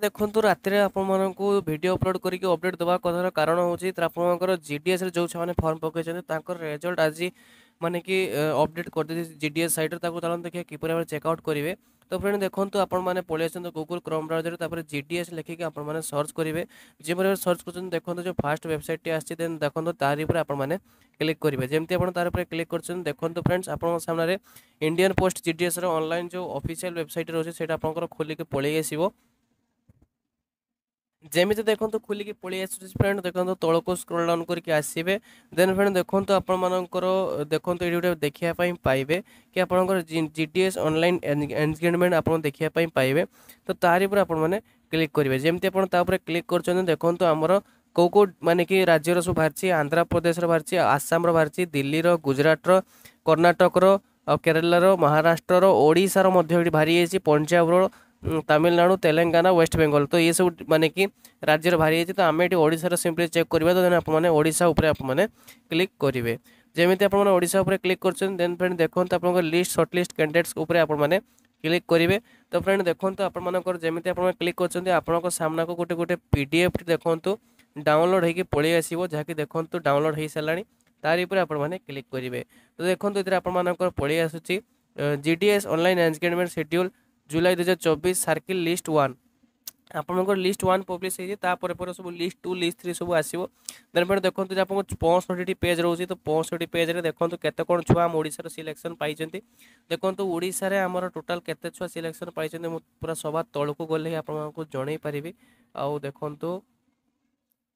ଦେଖନ୍ତୁ, ରାତିରେ ଆପଣମାନଙ୍କୁ ଭିଡ଼ିଓ ଅପଲୋଡ଼ କରିକି ଅପଡ଼େଟ୍ ଦେବା କଥାର କାରଣ ହେଉଛି ଆପଣଙ୍କର ଜିଡିଏସ୍ରେ ଯେଉଁ ଛୁଆମାନେ ଫର୍ମ ପକାଇଛନ୍ତି, ତାଙ୍କର ରେଜଲ୍ଟ ଆଜି ମାନେ କି ଅପଡ଼େଟ୍ କରିଦେଇଛି ଜିଡିଏସ୍ ସାଇଟ୍ରେ। ତାକୁ ଚାଲନ୍ତୁ ଦେଖିବା କିପରି ଭାବରେ ଚେକ୍ ଆଉଟ୍ କରିବେ। ତ ଫ୍ରେଣ୍ଡ, ଦେଖନ୍ତୁ, ଆପଣମାନେ ପଳେଇ ଆସନ୍ତୁ ଗୁଗୁଲ୍ କ୍ରୋମ୍ ବ୍ରାଉଜରରେ। ତାପରେ ଜିଡିଏସ୍ ଲେଖିକି ଆପଣମାନେ ସର୍ଚ୍ଚ କରିବେ। ଯେପରି ଭାବରେ ସର୍ଚ୍ଚ କରୁଛନ୍ତି, ଦେଖନ୍ତୁ, ଯେଉଁ ଫାଷ୍ଟ ୱେବସାଇଟ୍ଟି ଆସିଛି, ଦେନ୍ ଦେଖନ୍ତୁ, ତାରି ଉପରେ ଆପଣମାନେ କ୍ଲିକ୍ କରିବେ। ଯେମିତି ଆପଣ ତାର ଉପରେ କ୍ଲିକ୍ କରୁଛନ୍ତି, ଦେଖନ୍ତୁ ଫ୍ରେଣ୍ଡସ୍, ଆପଣଙ୍କ ସାମ୍ନାରେ ଇଣ୍ଡିଆନ୍ ପୋଷ୍ଟ ଜିଡିଏସ୍ର ଅନଲାଇନ୍ ଯେଉଁ ଅଫିସିଆଲ୍ ୱେବସାଇଟ୍ ରହୁଛି, ସେଇଟା ଆପଣଙ୍କର ଖୋଲିକି ପଳେଇ ଆସିବ। ଯେମିତି ଦେଖନ୍ତୁ, ଖୋଲିକି ପଳେଇ ଆସୁଛି ଫ୍ରେଣ୍ଡ। ଦେଖନ୍ତୁ, ତଳକୁ ସ୍କ୍ରୋଲ୍ ଡାଉନ୍ କରିକି ଆସିବେ। ଦେନ୍ ଫ୍ରେଣ୍ଡ, ଦେଖନ୍ତୁ, ଆପଣମାନଙ୍କର ଦେଖନ୍ତୁ, ଏଇଠି ଗୋଟେ ଦେଖିବା ପାଇଁ ପାଇବେ କି ଆପଣଙ୍କର ଜିଡିଏସ୍ ଅନଲାଇନ୍ ଏନଗେଜମେଣ୍ଟ ଆପଣ ଦେଖିବା ପାଇଁ ପାଇବେ। ତ ତାରି ଉପରେ ଆପଣମାନେ କ୍ଲିକ୍ କରିବେ। ଯେମିତି ଆପଣ ତା ଉପରେ କ୍ଲିକ୍ କରୁଛନ୍ତି, ଦେଖନ୍ତୁ, ଆମର କେଉଁ କେଉଁ ମାନେ କି ରାଜ୍ୟର ସବୁ ବାହାରିଛି। ଆନ୍ଧ୍ରପ୍ରଦେଶର ବାହାରିଛି, ଆସାମର ବାହାରିଛି, ଦିଲ୍ଲୀର, ଗୁଜୁରାଟର, କର୍ଣ୍ଣାଟକର ଆଉ କେରଳାର, ମହାରାଷ୍ଟ୍ରର, ଓଡ଼ିଶାର ମଧ୍ୟ ଏଠି ବାହାରି ଯାଇଛି, ପଞ୍ଜାବର, ତାମିଲନାଡ଼ୁ, ତେଲେଙ୍ଗାନା, ୱେଷ୍ଟବେଙ୍ଗଲ। ତ ଏସବୁ ମାନେ କି ରାଜ୍ୟର ବାହାରି ଯାଇଛି। ତ ଆମେ ଏଠି ଓଡ଼ିଶାର ସିମ୍ପଲି ଚେକ୍ କରିବା। ତ ଦେନ୍ ଆପଣମାନେ ଓଡ଼ିଶା ଉପରେ ଆପଣମାନେ କ୍ଲିକ୍ କରିବେ। ଯେମିତି ଆପଣମାନେ ଓଡ଼ିଶା ଉପରେ କ୍ଲିକ୍ କରୁଛନ୍ତି, ଦେନ୍ ଫ୍ରେଣ୍ଡ, ଦେଖନ୍ତୁ, ଆପଣଙ୍କ ଲିଷ୍ଟ ସର୍ଟ ଲିଷ୍ଟ କ୍ୟାଣ୍ଡିଡେଟ୍ସ ଉପରେ ଆପଣମାନେ କ୍ଲିକ୍ କରିବେ। ତ ଫ୍ରେଣ୍ଡ, ଦେଖନ୍ତୁ, ଆପଣମାନଙ୍କର ଯେମିତି ଆପଣମାନେ କ୍ଲିକ୍ କରୁଛନ୍ତି, ଆପଣଙ୍କ ସାମ୍ନାକୁ ଗୋଟେ ଗୋଟେ ପିଡିଏଫ୍ ଦେଖନ୍ତୁ ଡାଉନଲୋଡ଼ ହେଇକି ପଳେଇ ଆସିବ, ଯାହାକି ଦେଖନ୍ତୁ, ଡାଉନଲୋଡ଼ ହେଇସାରିଲାଣି। ତାରି ଉପରେ ଆପଣମାନେ କ୍ଲିକ୍ କରିବେ। ତ ଦେଖନ୍ତୁ, ଏଥିରେ ଆପଣମାନଙ୍କର ପଳେଇ ଆସୁଛି GDS online engagement schedule July 2024, circle list 1। ଆପଣଙ୍କର ଲିଷ୍ଟ 1 ପବ୍ଲିଶ ହେଇଛି। ତାପରେ ପରେ ସବୁ ଲିଷ୍ଟ 2, ଲିଷ୍ଟ 3 ସବୁ ଆସିବ। ଦେନ୍ ପରେ ଦେଖନ୍ତୁ ଯେ ଆପଣଙ୍କ 65ଟି ପେଜ୍ ରହୁଛି। ତ 65 ପେଜ୍ରେ ଦେଖନ୍ତୁ, କେତେ କ'ଣ ଛୁଆ ଆମ ଓଡ଼ିଶାର ସିଲେକ୍ସନ୍ ପାଇଛନ୍ତି। ଦେଖନ୍ତୁ, ଓଡ଼ିଶାରେ ଆମର ଟୋଟାଲ୍ କେତେ ଛୁଆ ସିଲେକ୍ସନ୍ ପାଇଛନ୍ତି, ମୁଁ ପୁରା ସବା ତଳକୁ ଗଲେ ହିଁ ଆପଣମାନଙ୍କୁ ଜଣେଇ ପାରିବି। ଆଉ ଦେଖନ୍ତୁ,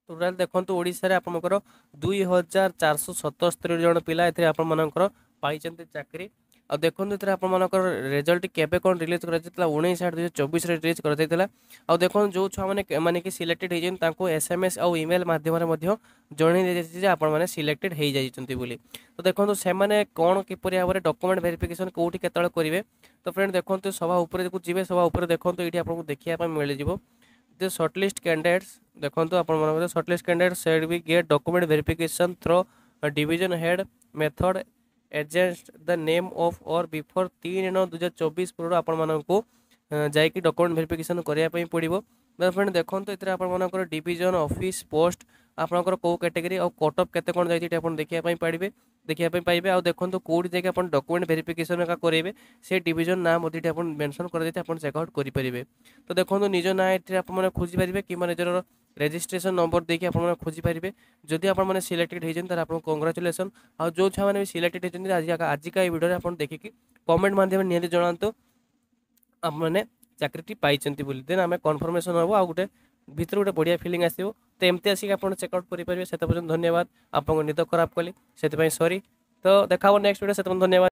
ଟୋଟାଲ୍ ଦେଖନ୍ତୁ, ଓଡ଼ିଶାରେ ଆପଣଙ୍କର 2477 ଜଣ ପିଲା ଏଥିରେ ଆପଣମାନଙ୍କର ପାଇଛନ୍ତି ଚାକିରି। ଆଉ ଦେଖନ୍ତୁ, ଏଥିରେ ଆପଣମାନଙ୍କର ରେଜଲ୍ଟ କେବେ କ'ଣ ରିଲିଜ୍ କରାଯାଇଥିଲା? 19/8/2024ରେ ରିଲିଜ୍ କରାଯାଇଥିଲା। ଆଉ ଦେଖନ୍ତୁ, ଯେଉଁ ଛୁଆମାନେ ମାନେ କି ସିଲେକ୍ଟେଡ଼ ହେଇଛନ୍ତି, ତାଙ୍କୁ ଏସ୍ଏମ୍ଏସ୍ ଆଉ ଇମେଲ୍ ମାଧ୍ୟମରେ ମଧ୍ୟ ଜଣାଇ ଦିଆଯାଇଛି ଯେ ଆପଣମାନେ ସିଲେକ୍ଟେଡ଼ ହେଇଯାଇଛନ୍ତି ବୋଲି। ତ ଦେଖନ୍ତୁ, ସେମାନେ କ'ଣ କିପରି ଭାବରେ ଡକୁମେଣ୍ଟ ଭେରିଫିକେସନ୍ କେଉଁଠି କେତେବେଳେ କରିବେ? ତ ଫ୍ରେଣ୍ଡ, ଦେଖନ୍ତୁ, ସଭା ଉପରେ ଯିବେ। ସଭା ଉପରେ ଦେଖନ୍ତୁ, ଏଇଠି ଆପଣଙ୍କୁ ଦେଖିବା ପାଇଁ ମିଳିଯିବ ଯେ ସର୍ଟଲିଷ୍ଟ କ୍ୟାଣ୍ଡିଡେଟ୍ସ। ଦେଖନ୍ତୁ, ଆପଣମାନଙ୍କର shortlist candidate shall be get document verification through division head method against the name on or before 3/9/2024 ପୂର୍ବରୁ ଆପଣମାନଙ୍କୁ ଯାଇକି ଡକୁମେଣ୍ଟ ଭେରିଫିକେସନ୍ କରିବା ପାଇଁ ପଡ଼ିବ। ଫ୍ରେଣ୍ଡ, ଦେଖନ୍ତୁ, ଏଥିରେ ଆପଣମାନଙ୍କର ଡିଭିଜନ, ଅଫିସ୍, ପୋଷ୍ଟ, ଆପଣଙ୍କର କେଉଁ କ୍ୟାଟେଗୋରୀ ଆଉ କଟ୍ ଅଫ୍ କେତେ କ'ଣ ଯାଇଛି, ଏଠି ଆପଣ ଦେଖିବା ପାଇଁ ପାଇବେ। ଆଉ ଦେଖନ୍ତୁ, କେଉଁଠି ଯାଇକି ଆପଣ ଡକୁମେଣ୍ଟ ଭେରିଫିକେସନ୍ ଏକା କରାଇବେ, ସେ ଡିଭିଜନ ନାଁ ମଧ୍ୟ ଏଠି ଆପଣ ମେନସନ୍ କରାଯାଇଛି, ଆପଣ ଚେକ୍ ଆଉଟ୍ କରିପାରିବେ। ତ ଦେଖନ୍ତୁ, ନିଜ ନାଁ ଏଥିରେ ଆପଣମାନେ ଖୋଜିପାରିବେ କିମ୍ବା ନିଜର ରେଜିଷ୍ଟ୍ରେସନ୍ ନମ୍ବର ଦେଇକି ଆପଣମାନେ ଖୋଜିପାରିବେ। ଯଦି ଆପଣମାନେ ସିଲେକ୍ଟେଡ଼ ହେଇଛନ୍ତି, ତାହେଲେ ଆପଣଙ୍କୁ କଂଗ୍ରାଚୁଲେସନ୍। ଆଉ ଯେଉଁ ଛୁଆମାନେ ବି ସିଲେକ୍ଟେଡ଼ ହେଇଛନ୍ତି, ଆଜି ଆଜିକା ଏଇ ଭିଡ଼ିଓରେ ଆପଣ ଦେଖିକି କମେଣ୍ଟ ମାଧ୍ୟମରେ ନିହାତି ଜଣାନ୍ତୁ ଆପଣମାନେ ଚାକିରିଟି ପାଇଛନ୍ତି ବୋଲି। ଦେନ୍ ଆମେ କନଫର୍ମେସନ୍ ହେବ ଆଉ ଗୋଟେ ଭିତରୁ ଗୋଟେ ବଢ଼ିଆ ଫିଲିଂ ଆସିବ। ତ ଏମିତି ଆସିକି ଆପଣ ଚେକ୍ ଆଉଟ୍ କରିପାରିବେ। ସେତେ ପର୍ଯ୍ୟନ୍ତ ଧନ୍ୟବାଦ। ଆପଣଙ୍କ ନିଦ ଖରାପ କଲି, ସେଥିପାଇଁ ସରି। ତ ଦେଖା ହେବ ନେକ୍ସଟ ଭିଡ଼ିଓ, ସେତେ ପର୍ଯ୍ୟନ୍ତ ଧନ୍ୟବାଦ।